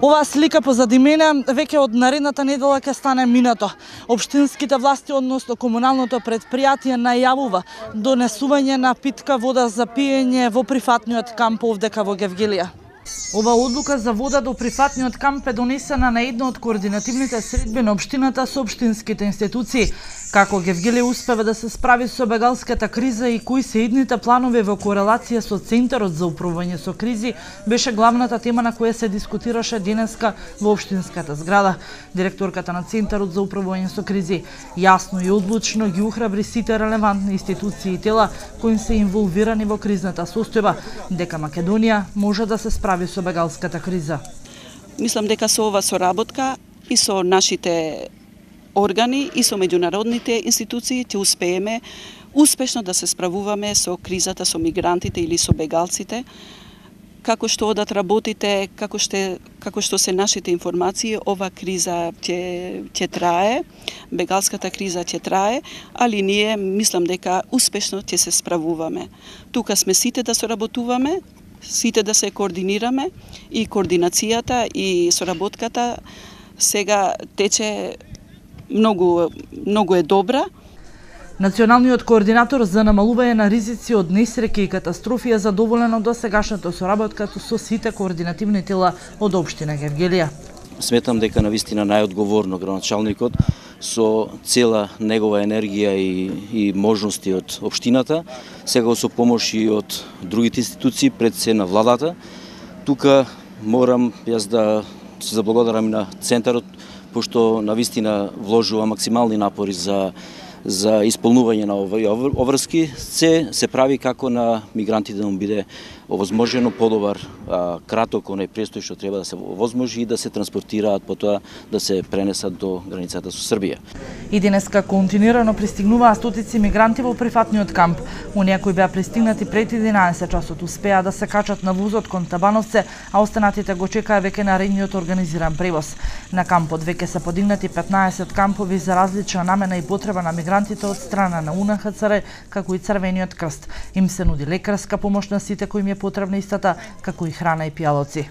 Оваа слика позади мене веќе од наредната недела ќе стане минато. Општинските власти, односно комуналното предпријатие, најавува донесување на питка вода за пиење во прифатниот камп овдека во Гевгелија. Ова одлука за вода до прифатниот камп е донесена на една од координативните средби на општината со општинските институции. Како Гевгелија успева да се справи со бегалската криза и кои се идните планови во корелација со Центарот за управување со кризи, беше главната тема на која се дискутираше денеска во општинската зграда. Директорката на Центарот за управување со кризи јасно и одлучно ги ухрабри сите релевантни институции и тела кои се инволвирани во кризната состојба, дека Македонија може да се справи со бегалската криза. Мислам дека со ова соработка и со нашите органи и со меѓународните институции ќе успееме успешно да се справуваме со кризата со мигрантите или со бегалците. Како што одат работите, како што се нашите информации, ова криза ќе трае, бегалската криза ќе трае, али ние мислам дека успешно ќе се справуваме. Тука сме сите да соработуваме, сите да се координираме и координацијата и соработката сега тече многу е добра. Националниот координатор за намалување на ризици од несреќи и катастрофи е задоволен од досегашната соработка со сите координативни тела од општина Гевгелија. Сметам дека навистина најодговорно градоначалникот со цела негова енергија и можности од општината, сега со помош и од другите институции, пред се на владата. Тука морам јас да се заблагодарам на Центарот, пошто навистина вложува максимални напори за исполнување на овој обврски. Се прави како на мигрантите да му биде овозможено подобар краток оној престој што треба да се овозможи и да се транспортираат, потоа да се пренесат до границата со Србија. И денеска континуирано пристигнуваа стотици мигранти во прифатниот камп. Оние кои беа пристигнати пред 11 часот успеа да се качат на возот кон Табановце, а останатите го чекаа веќе наредниот организиран превоз. На кампот веќе се подигнати 15 кампови за различна намена и потреба на мигрантите од страна на УНХЦР, како и Црвениот крст. Им се нуди лекарска помош на сите кои им е потребна истата, како и храна и пијалоци.